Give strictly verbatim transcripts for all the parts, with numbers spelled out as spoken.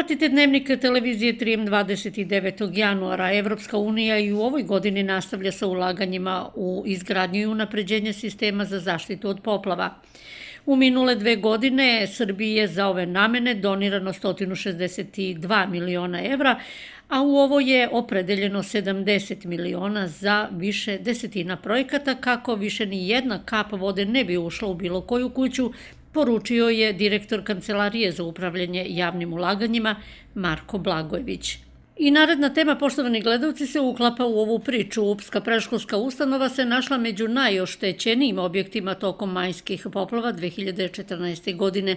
Pratite Dnevnik televizije tri M dvadeset devetog januara. Evropska unija i u ovoj godini nastavlja sa ulaganjima u izgradnju i unapređenje sistema za zaštitu od poplava. U minule dve godine Srbiji je za ove namene donirano sto šezdeset dva miliona evra, a u ovo je opredeljeno sedamdeset miliona za više desetina projekata kako više ni jedna kap vode ne bi ušla u bilo koju kuću, poručio je direktor Kancelarije za upravljanje javnim ulaganjima Marko Blagojević. I naredna tema, poštovani gledalci, se uklapa u ovu priču. Upska predškolska ustanova se našla među najoštećenijim objektima tokom majskih poplava dve hiljade četrnaeste. godine.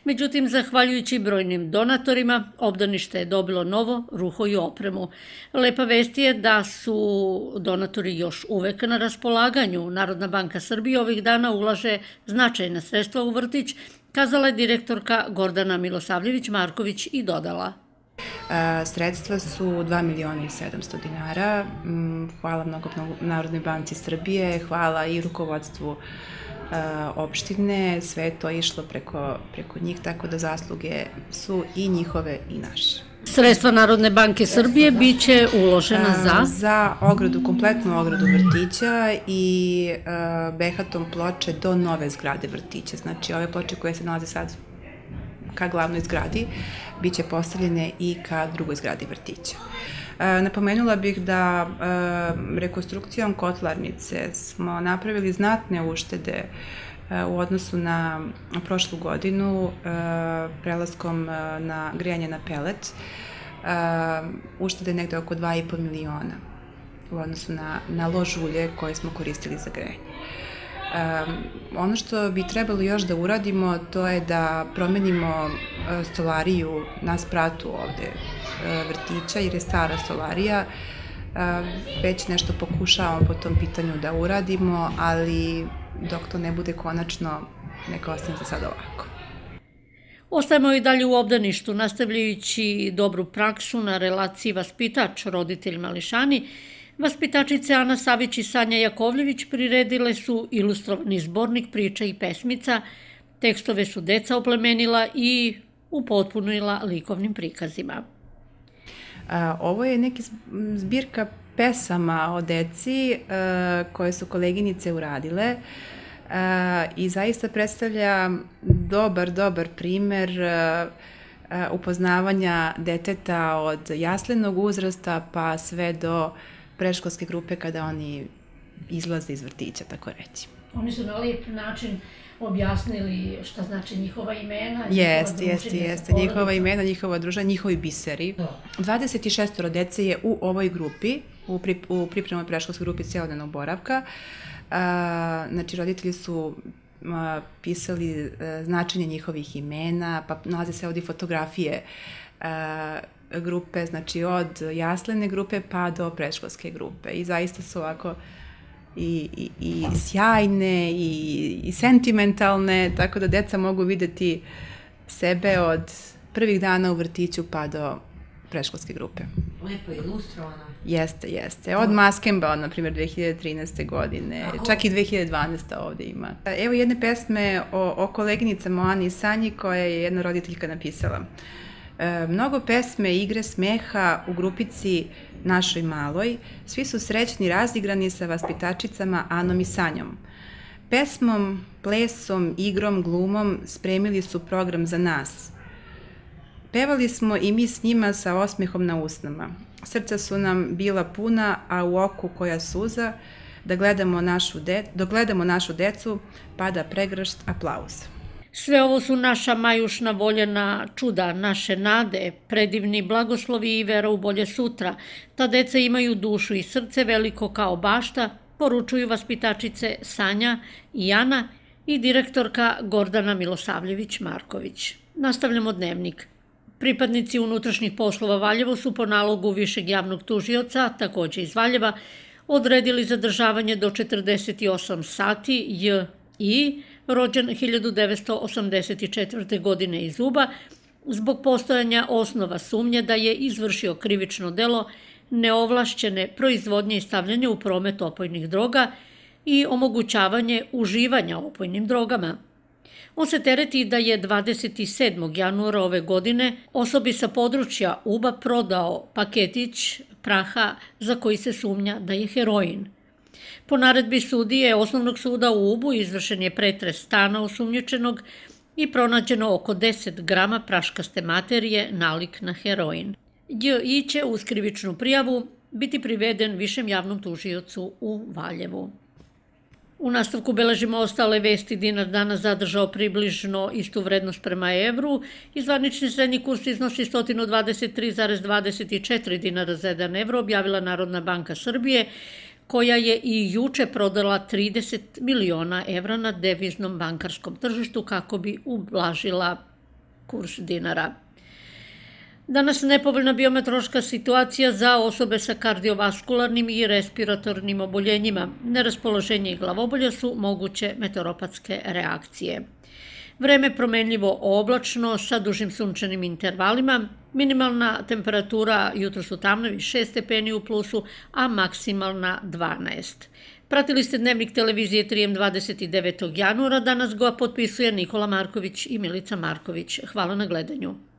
Međutim, zahvaljujući brojnim donatorima, obdanište je dobilo novo ruho i opremu. Lepa vest je da su donatori još uvek na raspolaganju. Narodna banka Srbije ovih dana ulaže značajna sredstva u vrtić, kazala je direktorka Gordana Milosavljević-Marković i dodala. Sredstva su dva miliona i sedamsto dinara. Hvala mnogo Narodnoj banci Srbije, hvala i rukovodstvu opštine. Sve je to išlo preko njih, tako da zasluge su i njihove i naše. Sredstva Narodne banke Srbije biće uložena za? Za ogradu, kompletnu ogradu vrtića i behatom ploče do nove zgrade vrtića. Znači, ove ploče koje se nalaze sad ka glavnoj zgradi, bit će postavljene i ka drugoj zgradi vrtića. Napomenula bih da rekonstrukcijom kotlarnice smo napravili znatne uštede u odnosu na prošlu godinu, prelaskom na grejanje na pelet. Uštede negde oko dva i po miliona u odnosu na lož ulje koje smo koristili za grejanje. Ono što bi trebalo još da uradimo, to je da promenimo stolariju na spratu ovde vrtića, jer je stara stolarija. Već nešto pokušavamo po tom pitanju da uradimo, ali dok to ne bude konačno, neka ostane za sad ovako. Ostajemo i dalje u obdaništu, nastavljajući dobru praksu na relaciji vaspitač-roditelj mališani. Vaspitačice Ana Savić i Sanja Jakovljević priredile su ilustrovani zbornik priča i pesmica, tekstove su deca oplemenila i upotpunila likovnim prikazima. Ovo je neki zbirka pesama o deci koje su koleginice uradile i zaista predstavlja dobar, dobar primer upoznavanja deteta od jaslenog uzrasta pa sve do predškolske grupe kada oni izlaze iz vrtića, tako reći. Oni su na lijep način objasnili šta znači njihova imena. Jeste, jeste, jeste. Njihova imena, njihova druženja, njihovi biseri. dvadeset šest dece je u ovoj grupi, u pripremnoj predškolskoj grupi celodnevnog boravka. Znači, roditelji su pisali značenje njihovih imena, pa nalaze se ovdje fotografije grupe, znači od jaslene grupe pa do predškolske grupe. I zaista su ovako i sjajne i sentimentalne, tako da deca mogu videti sebe od prvih dana u vrtiću pa do predškolske grupe. Lepo je ilustrovano. Jeste, jeste. Od Maskemba, na primjer, dve hiljade trinaeste. godine, čak i dve hiljade dvanaeste. ovde ima. Evo jedne pesme o koleginicama Ani i Sanji koje je jedna roditeljka napisala. Mnogo pesme, igre, smeha u grupici našoj maloj, svi su srećni razigrani sa vaspitačicama Anom i Sanjom. Pesmom, plesom, igrom, glumom spremili su program za nas. Pevali smo i mi s njima sa osmehom na usnama. Srca su nam bila puna, a u oku koja suza, da gledamo našu dok gledamo našu decu, pada pregršt aplauza. Sve ovo su naša majušna voljena čuda, naše nade, predivni blagoslovi i vera u bolje sutra. Ta deca imaju dušu i srce veliko kao bašta, poručuju vaspitačice Sanja i Ana i direktorka Gordana Milosavljević-Marković. Nastavljamo dnevnik. Pripadnici unutrašnjih poslova Valjevo su po nalogu višeg javnog tužioca, takođe iz Valjeva, odredili zadržavanje do četrdeset osam sati J I, rođen hiljadu devetsto osamdeset četvrte. godine iz Uba, zbog postojanja osnova sumnje da je izvršio krivično delo neovlašćene proizvodnje i stavljanja u promet opojnih droga i omogućavanje uživanja opojnim drogama. On se tereti da je dvadeset sedmog januara ove godine osobi sa područja Uba prodao paketić praha za koji se sumnja da je heroin. Po naredbi sudije Osnovnog suda u Ubu izvršen je pretres stana osumnjičenog i pronađeno oko deset grama praškaste materije nalik na heroin. Đ I će uz krivičnu prijavu biti priveden višem javnom tužiocu u Valjevu. U nastavku beležimo ostale vesti. Dinar danas zadržao približno istu vrednost prema evru i zvanični srednji kurs iznosi sto dvadeset tri zarez dvadeset četiri dinara za jedan evro, objavila Narodna banka Srbije, koja je i juče prodala trideset miliona evra na deviznom bankarskom tržištu kako bi ublažila kurs dinara. Danas nepovoljna biometeorološka situacija za osobe sa kardiovaskularnim i respiratornim oboljenjima. Neraspoloženje i glavobolja su moguće meteoropatske reakcije. Vreme promenljivo oblačno sa dužim sunčanim intervalima. Minimalna temperatura jutros u Tamnavi šest stepeni u plusu, a maksimalna dvanaest. Pratili ste Dnevnik televizije tri M dvadeset devetog januara. Danas ga potpisuje Nikola Marković i Milica Marković. Hvala na gledanju.